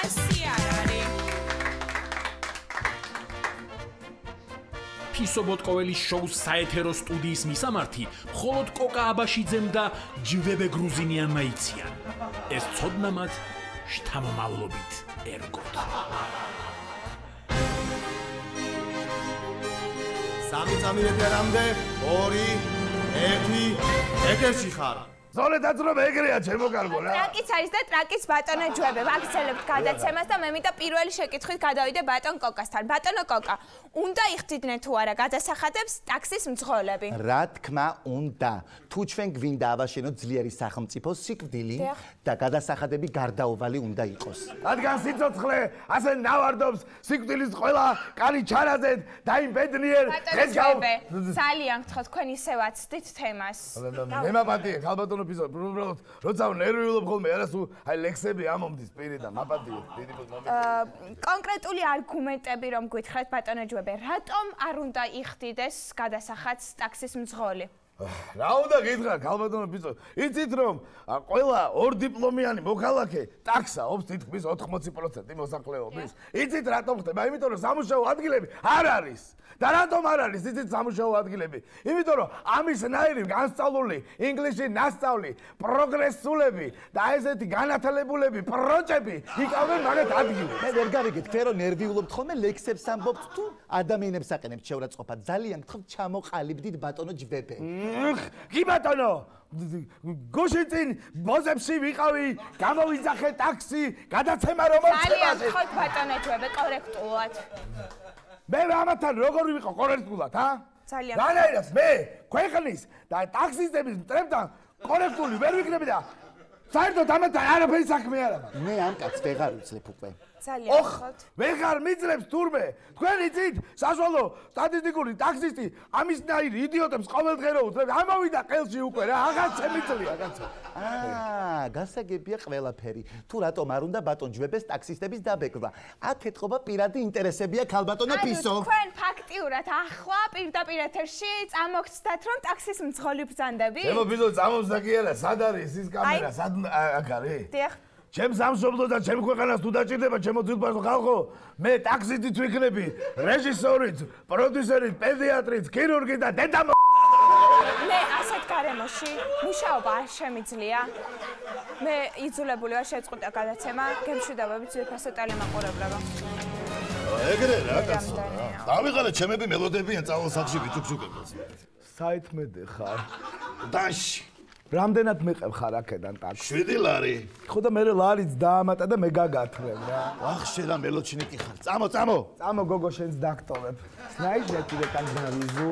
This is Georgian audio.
ასე არ არის. ფისო ბოტკოველის შოუს საეთერო სტუდიის მისამართი მხოლოდ კოკა აბაშიძემ და ჯვებე გრუზინიანმა იციან. ეს ცოდნა მათ შთამომავლობით ერგოთ. სამი წამირები არამდე, 2, 1, ეთერში ხარ. ზოლე დაძრობა ეგრეა ჩემო კარგო რა. ტრაკიც არის და ტრაკის ბატონო ჯვები. ვაგრძელებთ გადაცემას და მე მინდა პირველი შეკითხვით გადავიდე ბატონ კოკასთან. ბატონო კოკა, უნდა იხდიდნენ თუ არა გადასახადებს ტაქსის მძღოლები? რა თქმა უნდა. თუ ჩვენ გვინდა ავაშენოთ ძლიერი სახელმწიფო სიკვდილი და გადასახადები გარდაუვალი უნდა იყოს. რადგან სიცოცხლე ასე ნავარდობს სიკვდილის ყველა კანი ჩარაზეთ და იმ ბედნიერ დღეს გაუ ძალიან გთხოვ თქვენ ისე ვაცდით თემას. მე მაპატიე ხალბატონო პიზო უბრალოდ როცა ნერვიულობ ხოლმე არასუ აი ლექსები ამომდის პირიდან მაპატიე დიდი მომენტი. კონკრეტული არგუმენტები რომ გითხრათ ბატონო ჯვებე, რატომ არ უნდა იხდიდეს გადასახადს ტაქსის მძღოლი? რა უნდა გითხრათ ხალბატონო პიზო, იცით რომ ყველა ორდიპლომიანი მოქალაქე ტაქსაობს თითქმის 80% მოსახლეობის. იცით რატომ ხდება? იმიტომ რომ სამუშაო ადგილები არ არის. და რატომ არ არის იცით სამუშაო ადგილები? იმიტომ რომ ამისნაირი განსწავლული ინგლისში ნასწავლი პროგრესულები და ესეთი განათლებულები პროჭები იკავენ მაგათ ადგილებს. მე ვერ გავიგეთ, თქვენ რომ ნერვიულობთ ხოლმე ლექსებს ამბობთ თუ ადამიანებს აყენებთ შეურაცხყოფად. ძალიან გთხოვთ ჩამოყალიბდით ბატონო ჯვებე. კი ბატონო, გუშინ წინ ბოზებში ვიყავი, გამოვიძახე ტაქსი, გადაცემა რომ მოწევაზე. ძალიან გთხოვთ ბატონო ჯვებე, კორექტულად. მე ამათან როგორ ვიყო კორექტულად, ა? ძალიან. რანაირად მე ქვეყნის და ტაქსისტების მტრებთან კორექტული ვერ ვიქნები და საერთოდ ამათან არაფერი საქმე არ აქვს. მე ამ კაცს ვეღარ ვიცლებ უკვე. ძალიან გთხოვთ. ვეღარ მიძლებს თურმე. თქვენ იცით, საშუალო სტატისტიკური ტაქსისტი ამისნაირი იდიოტებს ყოველდღე რო უთხრებს, ამოვიდა ყელში უკვე რა, აღარ შემიძლია, რაღაცა. გასაგებია ყველაფერი. თუ რატომ არ უნდა ბატონ ჯვებეს ტაქსისტების დაბეჭდვა? აქ ეთყობა პირადი ინტერესებია ქალბატონო პისო. თქვენ ფაქტიურად ახლა პირდაპირ ეთერში წამოგცდათ რომ ტაქსის მძღოლი ბრძანდები? ჩემო ბიზო წამოვსდა კი არა, სად არის ის კამერა? სად აქ არის? დიახ. ჩემ სამშობლოს და ჩემ ქვეყანას თუ დაჭირდება ჩემო ძილბაშო ხალხო, მე ტაქსისტიც ვიქნები, რეჟისორიც, პროდიუსერიც, პედიატრიც, ქირურგი და დედა მე ასეთ გარემოში მუშაობა არ შემიძლია. მე იძულებული ვარ შეწყვიტა გადაცემა, გემშვიდობებით ძვირფასო ტელემაყურებლობა. ეგრე რა კაცო. დავიღალე ჩემები მელოდები ან წავლოსახში ვიჩუქჩუქებს. საითმედე ხარ? დაში. რამდენად მეყევ ხარ აქედან ტაქსი? 7 ლარი. ხო და მე ლარიც დაამატა და მე გაგათრევ რა. ახ შედა მელოჩინიკი ხარ. წამო. წამო გოგო შენს დაგტოვებ. Знаешь, я тебе так завезу.